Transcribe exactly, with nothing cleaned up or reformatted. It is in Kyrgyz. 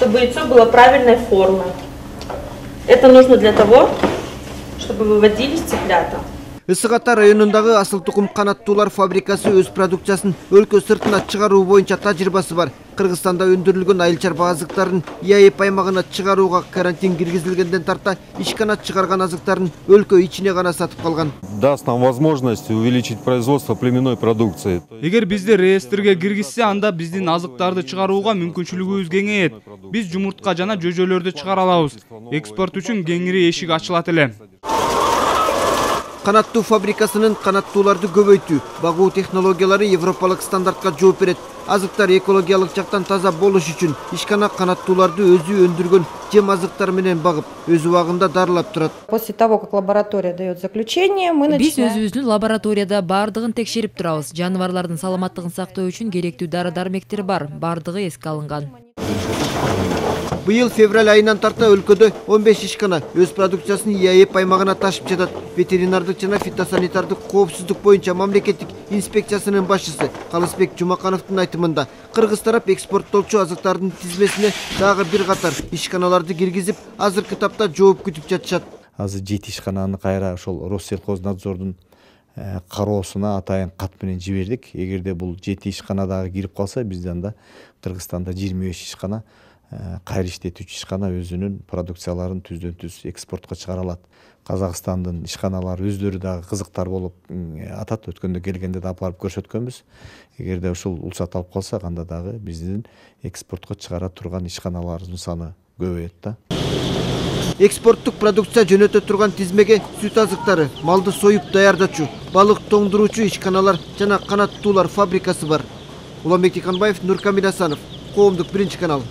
чтобы яйцо было правильной формы. Это нужно для того, чтобы выводились цыплята. Ысык Ата районундагы асыл тукум канаттуулар фабрикасы өз продукциясын өлкө сыртына чыгаруу боюнча тажрыйбасы бар. Кыргызстанда өндүрүлгөн айыл чарба азыктарын ИАЭП аймагына чыгарууга карантин киргизилгенден тарта ишкана чыгарган азыктарын өлкө ичине гана сатып калган. Даст нам возможность увеличить производство племенной продукции. Эгер бизди реестрге киргизсе, анда биздин азыктарды чыгарууга мүмкүнчүлүгүбүз кеңейет. Биз жумуртка жана жөжөлөрдү чыгара алабыз. Экспорт үчүн кеңири эшик ачылат эле. Канаттуу фабрикасынын канаттууларды көбөйтүү, багуу технологиялары европалык стандартка жооп берет. Азыктар экологиялык жактан таза болуш үчүн ишкана канаттууларды өзү өндүргөн жем азыктар менен багып, өз убагында дарылап турат. После того, как лаборатория дает заключение, мы начинаем. Биз өзүбүздүн лабораторияда бардыгын текшерип турабыз. Жаныбарлардын саламаттыгын сактоо үчүн керектүү дары-дармектер бар, бардыгы эске алынган. Быйыл февраль айынан тарта өлкөдө он беш ишкана өз продукциясын ИАЭП аймагына ташып жатат. Ветеринардык жана фитосанитардык коопсуздук боюнча мамлекеттик инспекциясынын башчысы Калысбек Жумакановдун айтымында, кыргыз тарап экспорттолчу азыктардын тизмесине дагы бир катар ишканаларды киргизип, азыркы тапта жооп күтүп жатышат. Азыр жети ишкананы кайра ошол Россельхознадзордун кароосуна атайын кат менен жибердик. Эгерде бул жети ишкана дагы кирип калса, бизде анда Кыргызстанда жыйырма беш ишкана кайра иштетүүчү ишкана өзүнүн продукцияларын түздөн түз экспортко чыгара алат. Казакстандын ишканалары өздөрү дагы кызыктар болуп атат. Өткөндө келгенде да алып көрсөткөнбүз. Эгерде ушул уруксат алып калсак, анда дагы биздин экспортко чыгара турган ишканаларыбыздын саны көбөйөт да. Экспорттук продукция жөнөтө турган тизмеге сүт азыктары, малды союп даярдачу, балык тоңдуруучу ишканалар жана канаттуулар фабрикасы бар. Уланбек Тиканбаев, Нуркамил Асанов, Коомдук биринчи канал.